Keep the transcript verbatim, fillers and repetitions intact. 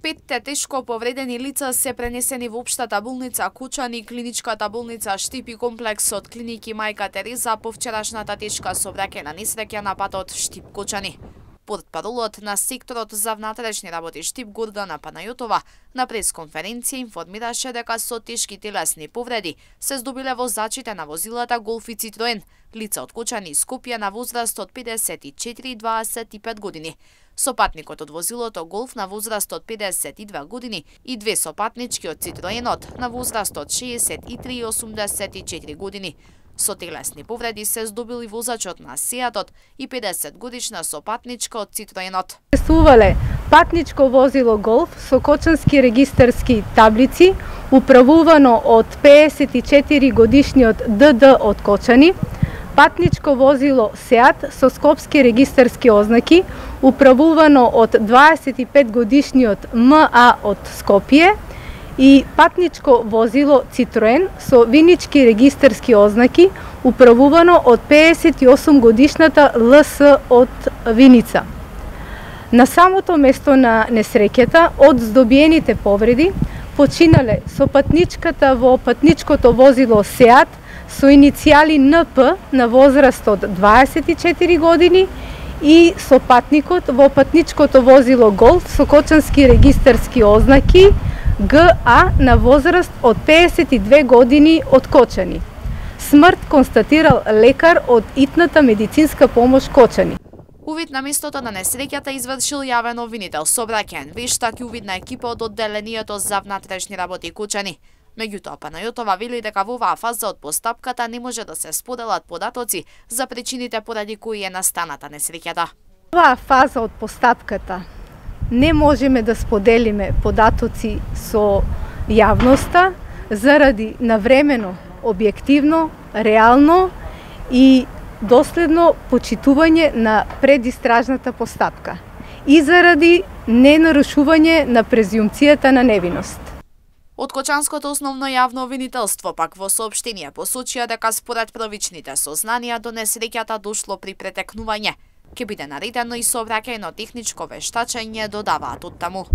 Петте тешко повредени лица се пренесени во општата болница Кучани, клиничката болница Штип и комплексот клиники Мајка Тереза по вчерашната тешка сообраќајна несреќа на патот Штип Кучани. Портпаролот на секторот за внатрешни работи Штип Гордана Панајотова на пресконференција информираше дека со тешки телесни повреди се здобиле возачите на возилата Голф и Цитроен, лица од Кучани и Скопје на возраст од педесет и четири и дваесет и пет години. Сопатникот од возилото Голф на возраст од педесет и две години и две сопатнички од Цитроенот на возраст од шеесет и три и осумдесет и четири години. Со телесни повреди се здобил и возачот на Сеатот и педесет годишна сопатничка од Цитроенот. Сувале патничко возило Голф со кочански регистарски таблици, управувано од педесет и четири годишниот Д Д од Кочани, патничко возило Сеат со скопски регистарски ознаки, управувано од дваесет и пет годишниот М А од Скопје, и патничко возило Цитроен со винички регистарски ознаки, управувано од педесет и осум годишната Л С од Виница. На самото место на несреќата, од здобиените повреди, починале сопатничката во патничкото возило Сеат со иницијали Н П на возраст од дваесет и четири години и сопатникот во патничкото возило Голф со кочански регистарски ознаки Г А на возраст од педесет и две години од Кочани. Смрт констатирал лекар од итната медицинска помош Кочани. Увид на местото на несреќата извршил јавен обвинител сообраќајен вештак и увидна екипа од одделението за внатрешни работи Кучани. Меѓутоа, Панајотова вели дека во оваа фаза од постапката не може да се споделат податоци за причините поради кои е настаната несреќата. Оваа фаза од постапката не можеме да споделиме податоци со јавноста заради навремено, објективно, реално и доследно почитување на предистражната постапка и заради ненарушување на презумцијата на невиност. Од Кочанското основно јавно обвинителство пак во соопштение посочија дека според првичните сознанија до несреќата дошло при претекнување. Ке биде наредено и сообраќајно техничко вештачење, додаваат од таму.